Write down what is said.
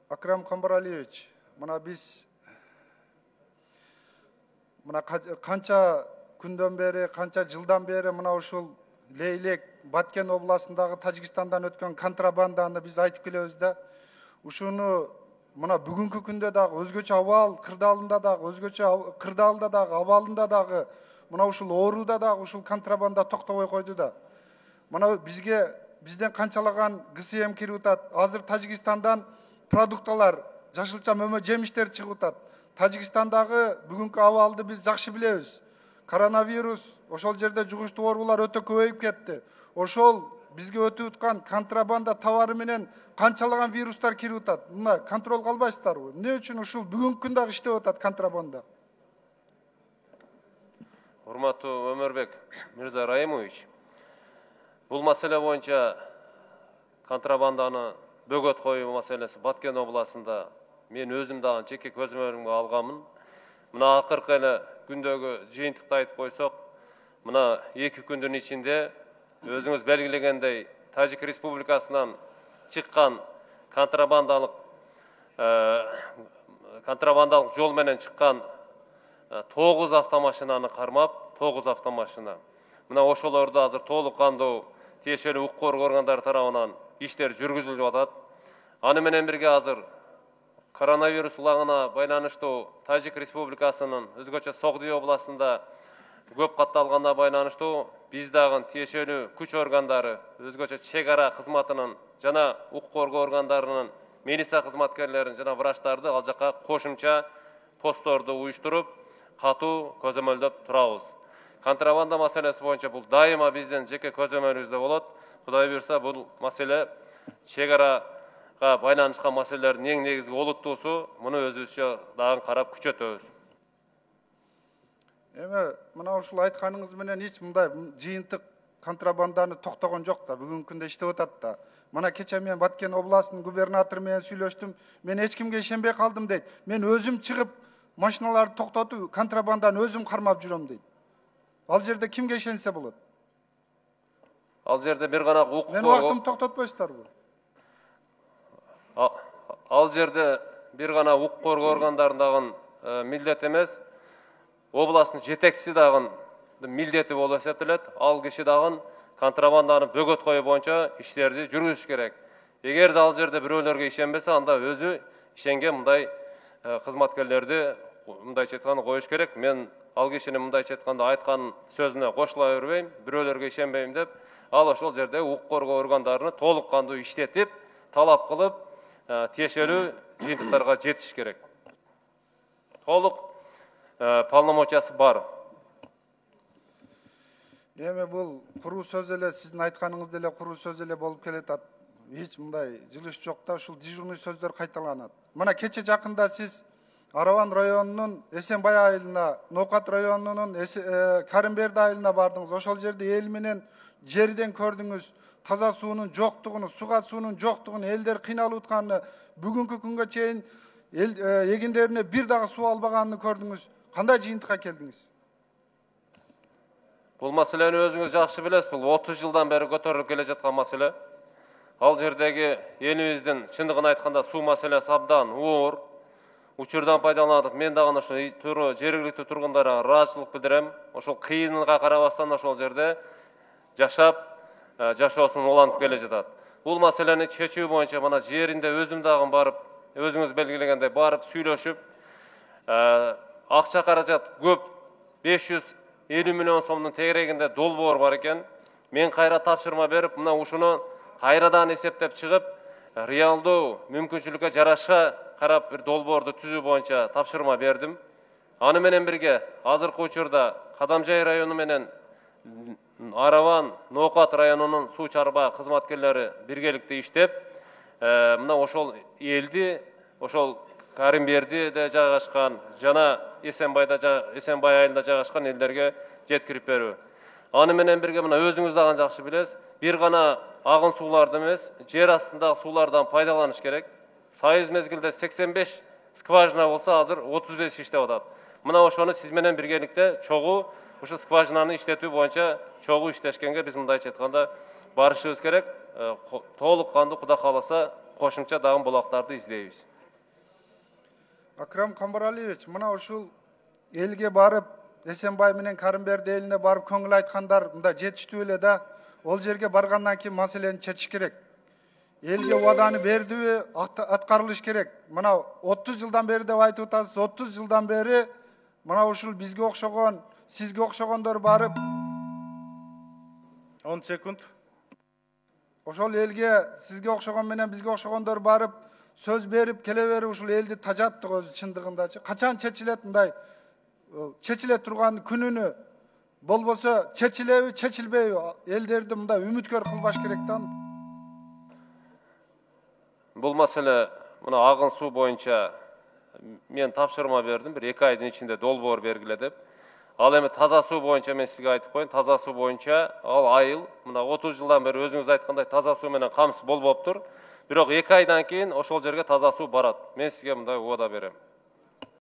Акрам Камбаралиевич, биз канча күндөн бери, канча жылдан бери ушул Лейлек, Баткен областындагы Тажикстандан өткөн контрабанданы биз айтып келебиз да. Ушуну бүгүнкү күндө дагы өзгөчө абал кырдаалында дагы, өзгөчө кырдаалда дагы, абалында дагы ушул ооруда дагы ушул контрабанда токтобой койду да. Бизден канчалаган ГСМ кирип атат. Азыр Тажикстандан продукталар, жашылча мөмө жемиштер чыгып атат. Тажикстандагы бүгүнкү абалды биз жакшы билебиз. Коронавирус, ошол жерде жугуштуу оорулар өтө көбөйүп кетти. Ошол бизге өтүп аткан контрабанда товары менен канчалаган вирустар кирип атат. Контроль кылбайсыздарбы? Эмне үчүн ушул бүгүнкү күндө дагы иштеп атат контрабанда? Урматтуу Өмөрбек Мирза Раимович, бул маселе боюнча контрабанданы бөгөт коюу маселеси Баткен областында мен өзүм дагы жеке көзөмөлүмгө алганмын. Мына акыркы эле күндөгү жыйынтыкты айтып койсок, мына 2 күндүн ичинде өзүңүз белгилегендей Тажик Республикасынан чыккан контрабандалык жол менен чыккан 9 автомашинаны кармап, 9 автомашина. Мына ошолорду азыр толук кандуу тиешелүү укук коргоо органдары тарабынан иштер жүргүзүлүп атат. Аны менен бирге азыр коронавирус улагына байланыштуу Тажик Республикасынын өзгөчө Согдий областында көп катталганына байланыштуу биз дагы тиешелүү күч органдары, өзгөчө чек ара кызматынын жана укук коргоо органдарынын милиция кызматкерлерин жана врачтарды ал жака кошумча постторду уюштуруп, катуу көзөмөлдөп турабыз. Контрабанда маселеси боюнча бул дайыма биздин жеке көзөмөлүбүздө болот. Кудай буйрса, бул маселе чек арага байланышкан маселелердин эң негизги олуттуусу, муну өзүбүзчө дагы карап күчөтөбүз. Ушул айтканыңыз менен эч мындай жыйынтык контрабанданы токтогон жок да, бүгүнкү күндө иштеп атат да. Кече мен Баткен областынын губернатору менен сүйлөштүм. Мен эч кимге ишенбей калдым дейт. Мен өзүм чыгып машиналарды токтотуп, контрабанданы өзүм кармап жүрөм дейт. Ал жерде кимге ишенсе болот? Ал жерде бир гана укук Мен убактымды токтотпойсуздарбы? Ал жерде бир гана укук коргоо органдарындагы милдет эмес, областтын жетекчиси дагы милдети болуп эсептелет. Ал киши дагы контрабанданы бөгөт коюу боюнча иштерди жүргүзүш керек. Эгерде ал жерде бирөөлөргө ишенбесе, анда өзү ишенген мындай кызматкерлерди мындайча айтканда коюш керек. Мен ал кишинин мындайча айтканда айткан сөзүнө кошула бербейм, бирөөлөргө ишенбейм деп, ал ошол жерде укук коргоо органдарын толук кандуу иштетип, талап кылып, тиешелүү жыйынтыктарга жетиш керек. Толук полномочиясы бар. Бул куруу сөз эле, сиздин айтканыңыз деле куруу сөз эле болуп келатат. Эч мындай жылыш жок да, ушул дежурный сөздөр кайталанат. Мына кече жакында сиз Араван районунун Эсенбай айылына, Ноокат районунун Карымберди айылына бардыңыз. Ошол жерде эл менен жерден көрдүңүз. Таза суунун жоктугун, суга суунун жоктугун, элдер кыйналып атканын, бүгүнкү күнгө чейин эгиндерине бир дагы суу албаганын көрдүңүз. Кандай жыйынтыкка келдиңиз? Бул маселени өзүңүз жакшы билесиз. Бул 30 жылдан бери көтөрүлүп келе жаткан маселе. Ал жердеги элибиздин чындыгын айтканда суу маселеси абдан оор. Учурдан пайдаланып, мен дагы ошол жергиликтүү тургундарга ыраазычылык билдирем. Ошол кыйынга карабастан ошол жерде жашап, жашоосун улантып келе жатат. Бул маселени чечүү боюнча мына жеринде өзүм дагы барып, өзүңүз белгилегендей барып сүйлөшүп, акча каражат көп, 550 миллион сомдун тегерегинде долбоор бар экен. Мен кайра тапшырма берип, мына ушуну кайрадан эсептеп чыгып, реалдуу мүмкүнчүлүккө жараша карап бир долбоорду түзүү боюнча тапшырма бердим. Аны менен бирге азыркы учурда Кадамжай району менен Араван, Ноокат районунун суу чарба кызматкерлери биргеликте иштеп, мына ошол элди, ошол Карымбердиде жайгашкан жана Эсенбай айылында жайгашкан элдерге жеткирип берүү. Аны менен бирге мына өзүңүз дагы жакшы билесиз, бир гана агын сууларды эмес, жер астындагы суулардан пайдаланыш керек. Союз мезгилде 85 скважина болсо, азыр 35 иштеп атат. Мына ошону сиз менен биргеликте чогуу ушу скважинаны иштетүү боюнча чогуу иштешкенге биз мындайча айтканда барышыбыз керек. Толук кандуу Кудай кааласа кошумча дагы булактарды издейбиз. Акрам Камбаралиевич, мына ушул элге барып, Эсенбай менен Карымберди элине барып көңүл айткандар мында жетиштүү эле да. Ол жерге баргандан кийин маселени чечиш керек. Элге убаданы бердиби, аткарылыш керек. Мына 30 жылдан бери деп айтып атасыз, 30 жылдан бери мына ушул бизге окшогон, сизге окшогондор барып 10 секунд. ошол элге, сизге окшогон менен бизге окшогондор барып сөз берип келе берип ушул элди тажаттык өзү чындыгындачы. Качан чечилет мындай чечиле турган күнүнү, болбосо чечилеби, чечилбейби? Элдерди мындай үмүткөр кылбаш керек да. Бул маселе мына агын суу боюнча мен тапшырма бердим, бир 2 айдын ичинде долбоор бергиле деп. Ал эми таза суу боюнча мен сизге айтып коеюн, таза суу боюнча ал айыл мына 30 жылдан бери өзүңүз айткандай таза суу менен камсыз болбоптур. Бирок 2 айдан кийин ошол жерге таза суу барат. Мен сизге мындай убада берем.